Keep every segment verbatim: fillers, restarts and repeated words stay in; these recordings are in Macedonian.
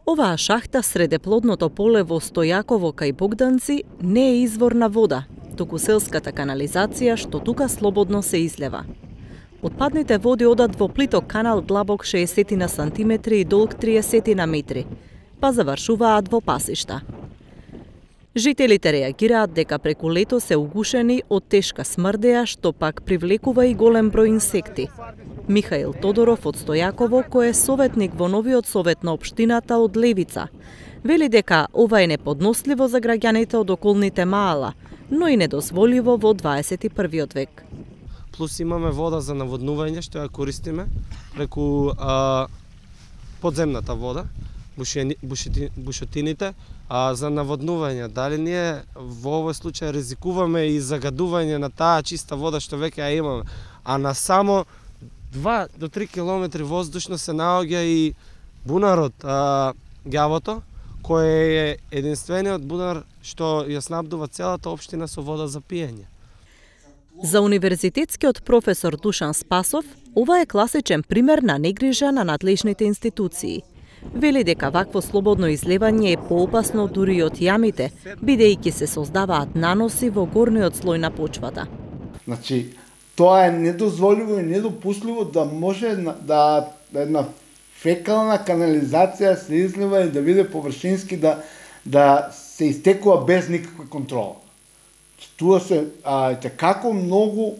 Оваа шахта среде плодното поле во Стојаково кај Богданци не е извор на вода, туку селската канализација што тука слободно се излева. Отпадните води одат во плиток канал длабок шеесет сантиметри и долг триесет метри, па завршуваат во пасишта. Жителите реагираат дека преку лето се угушени од тешка смрдеја, што пак привлекува и голем број инсекти. Михаил Тодоров од Стојаково, кој е советник во новиот совет на општината од Левица, вели дека ова е неподносливо за граѓаните од околните маала, но и недозволиво во дваесет и првиот век. Плюс имаме вода за наводнување што ја користиме преку а, подземната вода, бушени, бушети, бушотините, а за наводнување. Дали ние во овој случај ризикуваме и загадување на таа чиста вода што веќе ја имаме, а на само два до три километри воздушно се наоѓа и бунарот а, Ѓавото, кој е единствениот бунар што ја снабдува целата општина со вода за пиење. За универзитетскиот професор Душан Спасов, ова е класичен пример на негрижа на надлежните институции. Вели дека вакво слободно излевање е поопасно дури од јамите, бидејќи се создаваат наноси во горниот слој на почвата. Значи, тоа е недозволиво и недопустливо да може да, да една фекална канализација се излива и да биде површински, да, да се истекува без никаква контрола. Туа се а, како многу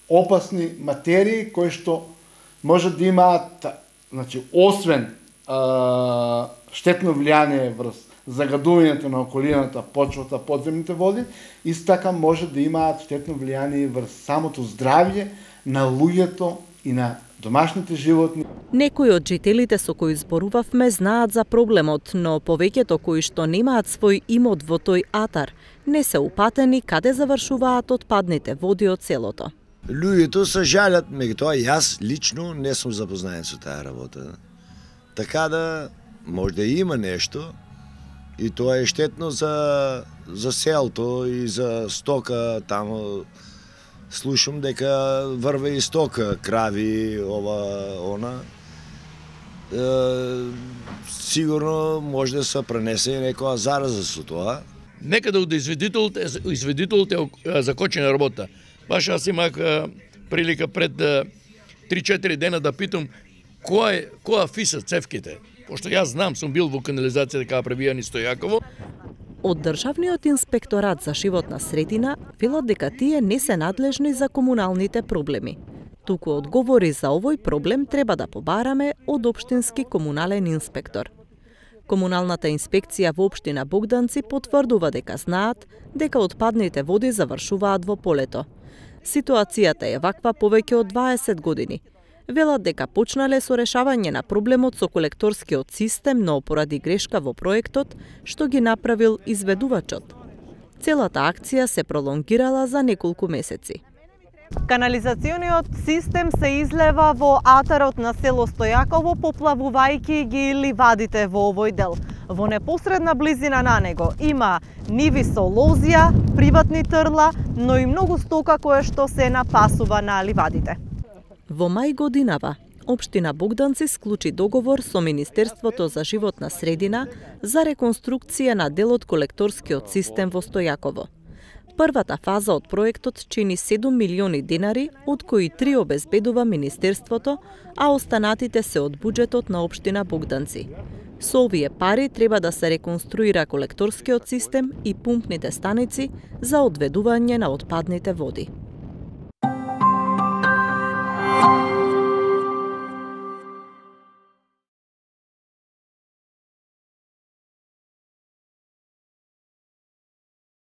опасни материи кои што може да имаат, значи, освен а, штетно влијание врз загадувањето на околината, почвата, подземните води, исто така може да имаат штетно влијание врз самото здравје на луѓето и на домашните животни. Некои од жителите со кои зборувавме знаат за проблемот, но повеќето кои што немаат свој имот во тој атар, не се упатени каде завршуваат отпадните води од селото. Луѓето се жалат, меѓутоа јас лично не сум запознаен со таа работа. Така да може да има нешто и тоа е штетно за за селото и за стока таму. Слушам дека врве и стока, крави, ова, она. Е, сигурно може да се пренесе и некоја зараза со тоа. Некаде од изведителите, изведителите закочена работа. Баш аз имах прилика пред три-четири дена да питам која е, која фиса цевките. Пошто јас знам, сум бил во канализација дека пребијани Стојаково. Од Државниот инспекторат за животна средина велат дека тие не се надлежни за комуналните проблеми. Туку одговори за овој проблем треба да побараме од општински комунален инспектор. Комуналната инспекција во општина Богданци потврдува дека знаат дека отпадните води завршуваат во полето. Ситуацијата е ваква повеќе од дваесет години. Велат дека почнале со решавање на проблемот со колекторскиот систем, но поради грешка во проектот, што ги направил изведувачот. Целата акција се пролонгирала за неколку месеци. Канализациониот систем се излева во атарот на село Стојаково, поплавувајќи ги ливадите во овој дел. Во непосредна близина на него има ниви со лозија, приватни трла, но и многу стока која што се напасува на ливадите. Во мај годинава, општина Богданци склучи договор со Министерството за животна средина за реконструкција на дел од колекторскиот систем во Стојаково. Првата фаза од проектот чини седум милиони денари, од кои три обезбедува Министерството, а останатите се од буџетот на општина Богданци. Со овие пари треба да се реконструира колекторскиот систем и пумпните станици за одведување на отпадните води.